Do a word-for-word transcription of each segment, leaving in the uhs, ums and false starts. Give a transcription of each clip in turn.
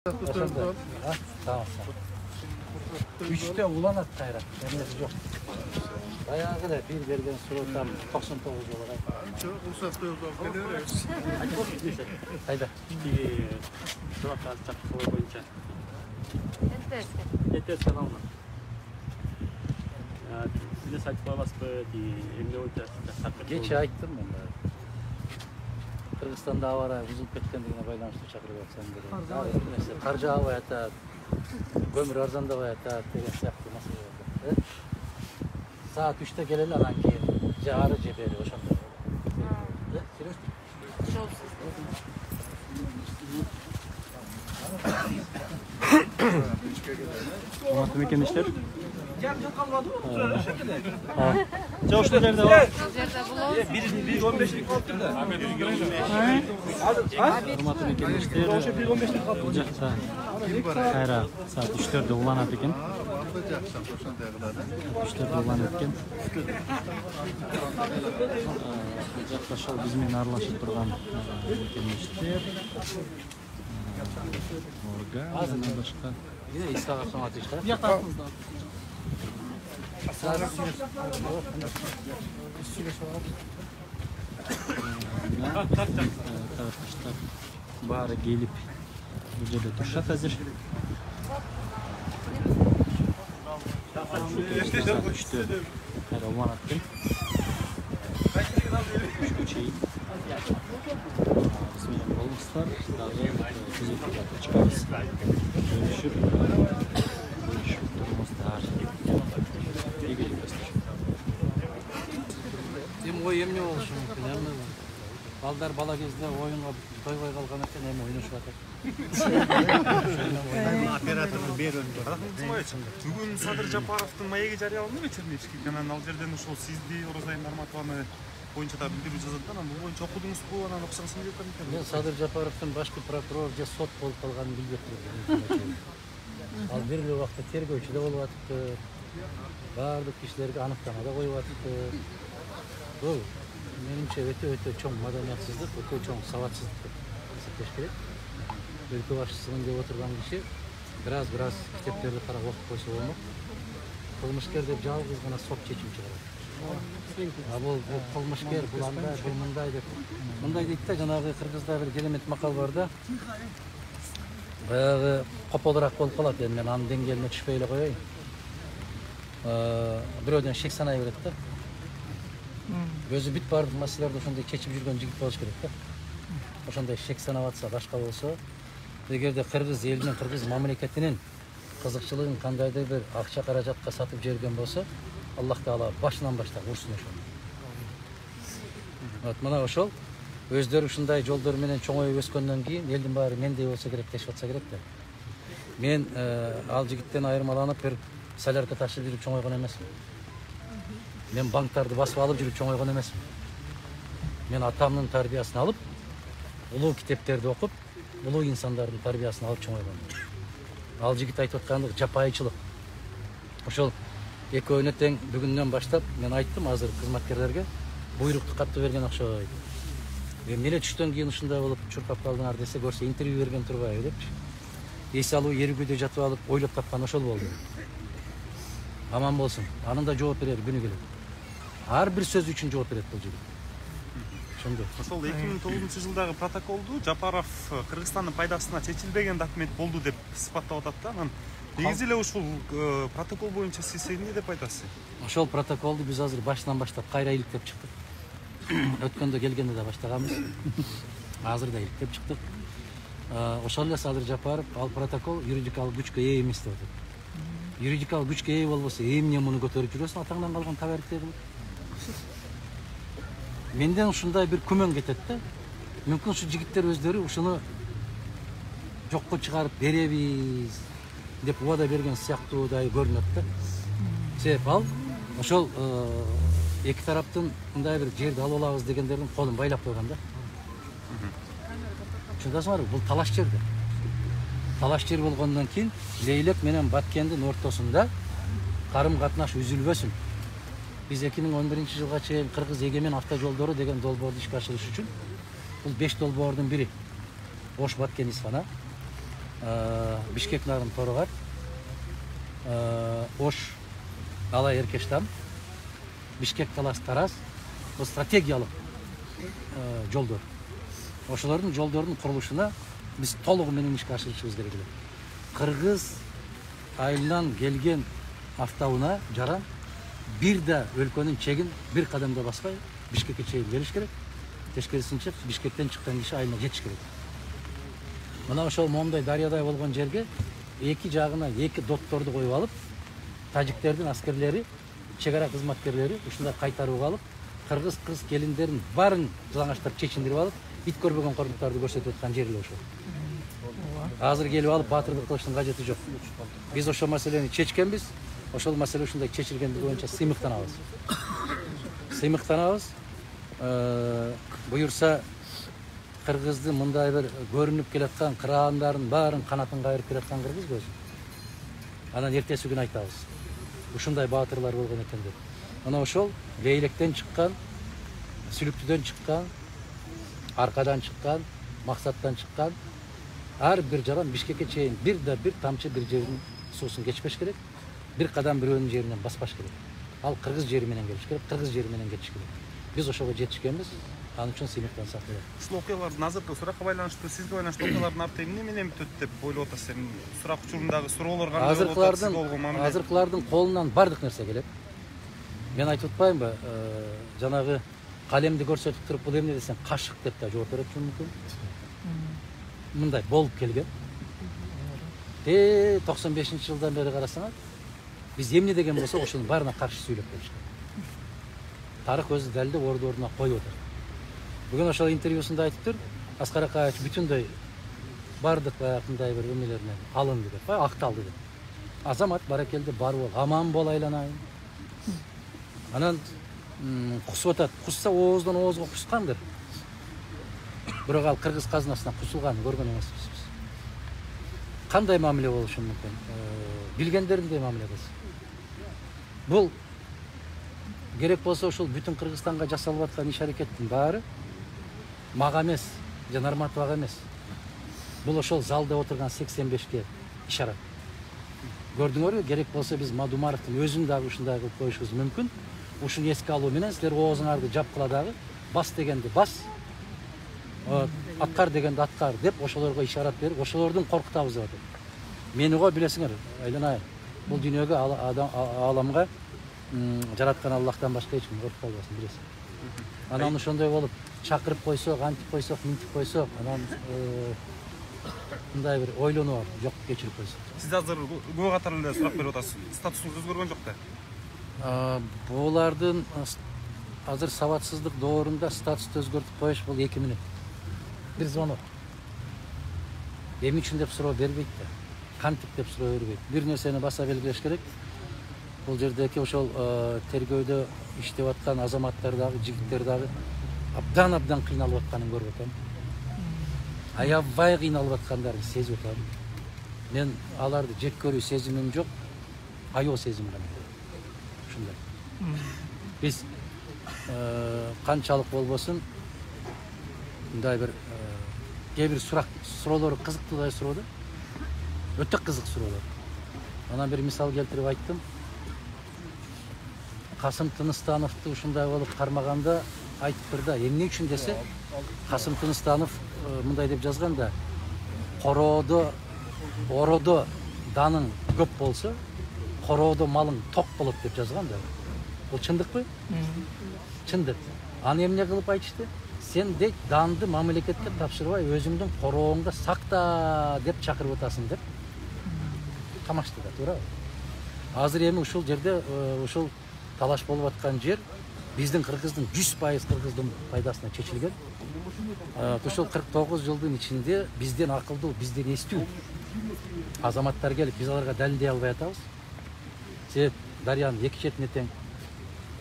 Tamam. Üçte ulanat kayrak. Emniyeti yok. Bayağı da bir vergen surotan doksan dokuz olarak. Çok uzakta yok. Hayda. Bir surat az çapı boyunca. Yeterse. Yeterse alma. Size saçma basıp emniyet oyunca. Geç ayttım ben de. Kırgızstanda avara buzulup ketkendigine байланыштуу чакырып атсам керек. Каржы албай атат, көмүр арзандабай атат деген сыяктуу маселе бар. Саат üçte келели анан кийин же ары же бери ошондой. Урматтуу мекендештер. Жок ушул жерде бар. bir on beşlik kalktı da. Урматтуу мекендештер. Бул жакта кайра саат üçтөрдө уланат экен. üçтөрдө уланат экен. Бул жакта ошол биз менен аралашып турган мекендештер. Орга, жана башка. Yine İsa'ya son ateşler. Yaklaşımızda. Taraftar bari gelip bu жерде турушат азыр. Кайра уланат экен. Үшкө чейин. Биз менен болуңуздар, дагы түзөтүп чыгабыз. Görüşüp, görüşüp durumuzlar. İyi geliyorlar. Dem oy emne болушу мүмкүн, эмне? Балдар бала кезде оюнга тойбой калган экен, эми ойношуп атат. Операторду берип Бүгүн Садыр Жапаровдун маеги жарыяланды Черневский каналынан, ал жерден ошол сизди Орозай Нарматованы боюнча да билдирүү жазылган, анан бул боюнча окудуңузбу, анан окусаңыз деп экен. Мен Садыр Жапаровдун башкы прокурор же сот болуп калганын билбей турдум. Ал бир эле убакта тергөөчү да болуп атыпты. Баардык кишилерге аныктама да коюп атыпты. Бул менимче өтө өтө чоң маданиятсыздык, өтө чоң сабатсыздык деп эсептеш керек. Өлкө башчысымын деп отурган киши бир аз бир аз китептерди карап окуп койсо болмок. Кылмышкер деп жалгыз гана сот чечим чыгарат. А бул кылмышкер, бул андай, бул мындай деп. Мындай дейт да, жанагы кыргызда бир керемет макал бар да. Баягы кополураак болуп калат, эми мен анын деңгээлине түшпөй эле коеюн. Бирөөдөн шек санай берет да. Өзү бүт баардык маселелерди ошондой чечип жүргөн жигит болуш керек да. Ошондой шек санап атса, башка болсо, эгерде кыргыз элинин, кыргыз мамлекетинин кызыкчылыгын кандайдыр бир акча каражатка сатып жиберген болсо, Аллах Таала башынан баштап урсун ошону. Вот мына ошол өздөрү ушундай жолдор менен чоңоюп өскөндөн кийин элдин баары мендей болсо керек дешип атса керек да. Мен ал жигиттен айырмаланып бир солярка ташып жүрүп чоңойгон эмесмин. Мен банктарды басып алып жүрүп чоңойгон эмесмин. Мен атамдын тарбиясын алып, улуу китептерди окуп, улуу инсандардын тарбиясын алып чоңойгон. Ал жигит айтып аткандыгы жапайычылык. Ошол экөөнө тең бүгүндөн баштап мен айттым азыр кызматкерлерге, буйрукту катты берген окшойт. Эмне түштөн кийин ушундай болуп чуркап калдыңар десе, көрсө интервью берген турбайбы депчи. Эс алуу эрүүгүдө жатып алып ойлоп тапкан ошол болду. Аман болсун. Анын да жооп берер күнү келет. Ар бир сөз үчүн жооп берет бул жигит. Ошондой. Ошол эки миң тогузунчу жылдагы протоколду Жапаров Кыргызстандын пайдасына чечилбеген документ болду деп сыпаттап атат да. Анан негизи эле ушул протокол боюнча сиз эмне деп айтасыз? Ошол протоколду биз азыр башынан баштап кайра иликтеп чыктык. Өткөндө келгенде да баштаганбыз. Азыр да иликтеп чыктык. Ошол эле Садыр Жапаров ал протокол юридикалык күчкө ээ эмес деп атат. Юридикалык күчкө ээ болбосо эмне муну көтөрүп жүрөсүң, атаңдан калган табарикте кылып. Менден ушундай бир күмөн кетет да. Мүмкүн ушу жигиттер өздөрү ушуну жокко чыгарып беребиз деп убада берген сыяктуудай көрүнөт да. Себеп ал ошол эки тараптын мындай бир жерди алып алабыз дегендердин колун байлап койгон да. Чындасыңарбы? Бул талаш жер да. Талаш жер болгондон кийин Лейлек менен Баткендин ортосунда карым катнаш үзүлбөсүн. Биз эки миң он биринчи жылга чейин Кыргыз эгемен автожолдору деген долбоорду ишке ашырыш үчүн бул беш долбоордун бири. Ош Баткен Исфана. Бишкек нарын торогар, Ош, Алай Эркештам, Бишкек Талас Тараз, бул стратегиялык жолдор. Ошолордун жолдордун курулушуна биз толугу менен ишке ашырышыбыз керек эле. Кыргыз айылынан келген автоунаа жаран бир да өлкөнүн чегин бир кадам да баспай Бишкекке чейин келиш керек. Тескерисинче Бишкектен чыккан киши айылына жетиш керек. Мына ошол момундай дарыядай болгон жерге эки жагына эки дотторду коюп алып, тажиктердин аскерлери, чек ара кызматкерлери ушундай кайтарып алып, кыргыз кыз келиндерин баарын жалаңаштап чечиндирип алып, ит көрбөгөн коруктарды көрсөтүп аткан жер эле ошол. Азыр келип алып баатырдык кылыштын кажети жок. Биз ошол маселени чечкенбиз. Ошол маселе ушундай чечилгендиги боюнча сыймыктанабыз. Сыймыктанабыз. Буюрса кыргыздын мындай бир көрүнүп келаткан кыраандардын баарын канатын кайрып келаткан кыргыз көз. Анан эртеси күнү айтабыз. Ушундай баатырлар болгон экен деп. Мына ошол бейлектен чыккан, сүлүктүдөн чыккан, аркадан чыккан, максаттан чыккан ар бир жаран Бишкекке чейин бир да бир тамчы бир жердин суусун кечпеш керек. Бир кадам бирөөнүн жеринен баспаш керек. Ал кыргыз жери менен келиш керек, кыргыз жери менен кетиш керек. Биз ошого жетишкенбиз. Анын үчүн сыймыктансак болот. Ушул окуялардын азыркы суракка байланыштуу, сизге байланыштуу окуялардын арты эмне менен бүтөт деп ойлоп атасыз? Эми сурак учурундагы суроолор кандай болуп атат, сизге болгон мамиле? Азыркылардын колунан бардык нерсе келет. Мен айтып атпаймынбы, жанагы калемди көрсөтүп туруп бул эмне десең кашык деп да жооп берет мүмкүн. Мындай болуп келген. Э токсон бешинчи жылдан бери карасаңар, биз эмне деген болсок ошонун баарына каршы сүйлөп келишкен. Тарых өзү далилдеп орду ордуна коюп атат. Бүгүн ошол интервьюсунда айтыптыр, Аскар Акаевич бүтүндөй бардык баягындай бир эмелеринен алынды деп, акталды деп. Азамат баракелде бар бол, аман бол айланайын. Анан кусуп атат. Кусса ооздон оозго кускандыр. Бирок ал кыргыз казынасына кусулганын көргөн эмеспиз биз. Кандай мамиле болушу мүмкүн? Билгендериндей мамиле кылсын. Бул керек болсо ушул бүтүн Кыргызстанга жасалып аткан иш-аракеттин баары мага эмес, жана Нарматовага эмес. Бул ошол залда отурган сексен бешке ишарат. Көрдүңөрбү? Керек болсо биз Мадумаровдун өзүн дагы ушундай кылып коюшубуз мүмкүн. Ушуну эске алуу менен силер оозуңарды жапкыла дагы бас дегенди бас, аткар дегенди аткар деп ошолорго ишарат берип, ошолордун коркутабыз деп атат. Мени го билесиңер, айланайын. Бул дүйнөгө ааламга жараткан Аллахтан башка эч ким коркуп калбасын, билесиң. Анан ошондой болуп чакырып койсок, антип койсок, минтип койсок, анан мындай бир ойлонуп жок кечирип койсок. Сиз азыр күбө катары эле сурак берип атасыз. Статусуңуз өзгөргөн жок да? Булардын азыр сабатсыздык доорунда статусту өзгөртүп коюш бул эки мүнөт. Бир звонок. Эмне үчүн деп суроо бербейт да. Кантип деп суроо бербейт. Бир нерсени баса белгилеш керек. Бул жердеки ошол тергөөдө иштеп аткан азаматтар дагы, жигиттер дагы абдан-абдан кыйналып атканын көрүп атам. Аябай кыйналып аткандарын сезип атам. Мен аларды жек көрүү сезимим жок, аял сезим гана. Ушундай. Биз канчалык болбосун мындай бир кээ бир сурак суроолору кызыктуудай суроо да. Өтө кызык суроолор. Анан бир мисал келтирип айттым. Касым Тыныстановду ушундай болуп кармаганда айтыптыр да, эмне үчүн десе, Касым Тыныстанов мындай деп жазган да, короодо, ороодо даның көп болсо, короодо малың ток болот деп жазган да. Бул чындыкпы? Чындык. Аны эмне кылып айтышты? Сен дейт данды мамлекетке тапшырбай өзүңдүн корооңда сакта деп чакырып атасың деп. Камашты да, туурабы? Азыр эми ушул жерде ушул талаш болуп аткан жер биздин кыргыздын жүз пайыз кыргыздын пайдасына чечилген. Ушул кырк тогуз жылдын ичинде бизден акылдуу, бизден эстүү азаматтар келип, биз аларга далилдей албай атабыз. Себеп дарыянын эки четине тең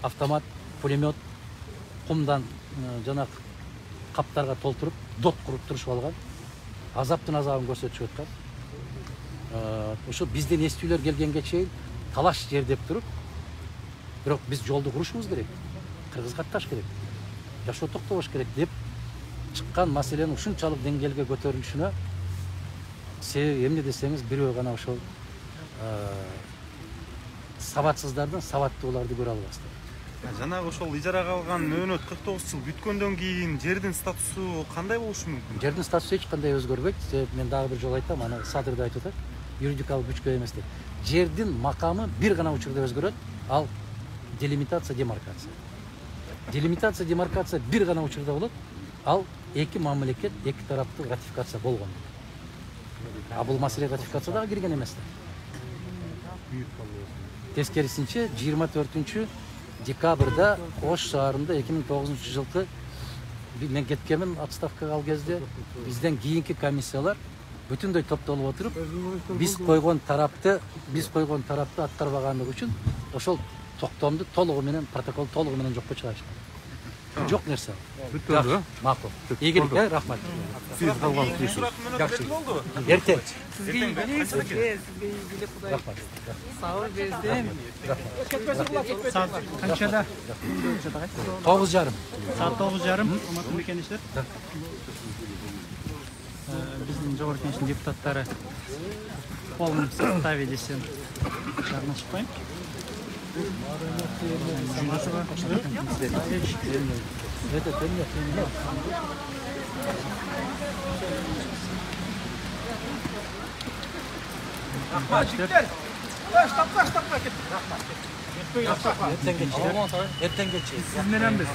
автомат, пулемет, кумдан жана каптарга толтуруп, дот куруп турушуп алган. Азаптын азабын көрсөтүшүп аткан. Ошо бизден эстүүлөр келгенге чейин талаш жер деп туруп, бирок биз жолду курушубуз керек. Кыргызга атташ керек. Жашоо токтобош керек деп чыккан маселенин ушунчалык деңгээлге көтөрүлүшүнө себеби эмне десеңиз, бирөө гана ошол сабатсыздардын сабаттууларды көрө албастыр. Жанагы ошол ижарага алган мөөнөт кырк тогуз жыл бүткөндөн кийин жердин статусу кандай болушу мүмкүн? Жердин статусу эч кандай өзгөрбөйт. Себеби мен дагы бир жолу айттым, аны Садыр да айтып атат. Юридикалык күчкө эмес деп. Жердин макамы бир гана учурда өзгөрөт. Ал делимитация, демаркация. Делимитация, демаркация бир гана учурда болот. Ал эки мамлекет, эки тараптуу ратификация болгон. А бул маселе ратификацияга кирген эмес да. Тескерисинче жыйырма төртүнчү декабрда Ош шаарында эки миң тогузунчу жылкы мен кеткенмин отставкага ал кезде. Бизден кийинки комиссиялар бүтүндөй топтолуп отуруп, биз койгон тарапты, биз койгон тарапты аткарбаганлыгы үчүн ошол токтомду толугу менен, протокол толугу менен жокко чыгарышкан. Жок нерсе. Бүттү. Макул. Ийгилик, рахмат. Сиз калган тийсиз. Жакшы. Эртең. Сизге ийгилик, сизге ийгилик, Кудай. Рахмат. Сабыр берсин. Саат канчада? тогуз жарым. Саат тогуз жарым. Урматтуу мекендештер. Биздин жогорку кеңештин депутаттары в полном составе десем чагылышпайм. Это темно. Эртең келчи. Сиз менен биз.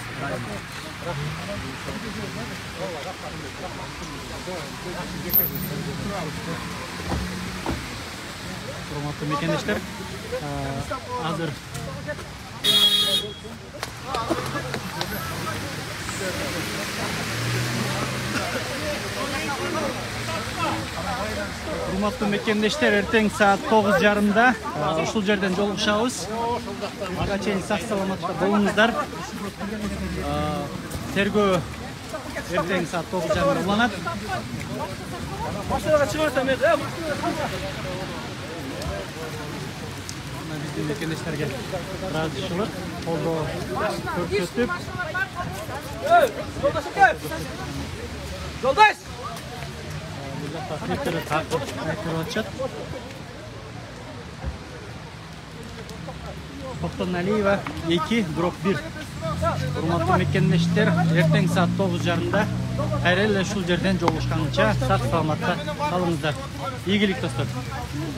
Урматтуу мекендештер, азыр Урматтуу мекендештер, эртең саат тогуз жарымда ушул жерден жолугушабыз. Ага чейин сак саламатта болуңуздар. Тергөө эртең саат тогуз жарымда уланат. Машинага чыгарсам эми. Биздин мекендештерге ыраазычылык, колдоо көрсөтүп, Жолдаш! бул жакта флиптер айтып атышат. Токтоналиева эки дробь бир. Урматтуу мекендештер, эртең саат тогуз жарымда кайра эле ушул жерден жолугушканча сак саламатта калыңыздар. Ийгилик достор.